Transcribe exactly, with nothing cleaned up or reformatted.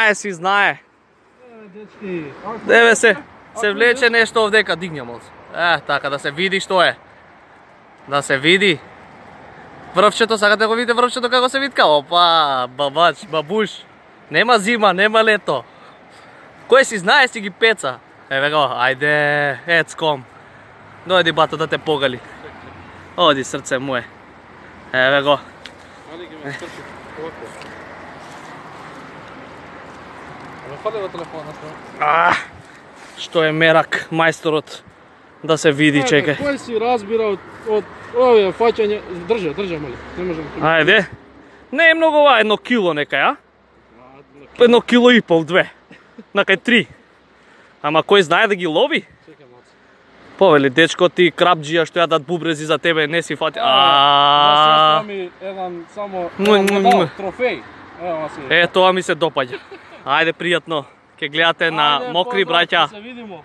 знае, си знае. Еве се, се влече нешто овдека, дигнем од. Е, така да се види што е. Да се види. Врвчето, сакате да го видите врвчето како се витка? Опа, бабач, бабуш. Нема зима, нема лето. Кој си знае си ги пеца. Еве го, ајде, ецком. Дојди бато да те погали. Оди срце мое. Еве го. Али ги ме скрчи, овако. Ме фали во телефонот. А, што е мерак, мајсторот. Да се види, чекај. Кој си разбира од, од овие фаќање? Држа, држа, мали. Не можам. Ајде. Не е многу ова, едно кило некај, а? Едно кило и пол, две. Накај три. Ама кој знае да ги лови? Чекај малце. Повели, дечко, ти крапџија што јадат бубрези за тебе, не си фати. А, ми еден само медал, трофеј. Ево си. Е, тоа ми се допаѓа. Ајде, пријатно. Ке гледате на мокри браќа. Се видимо.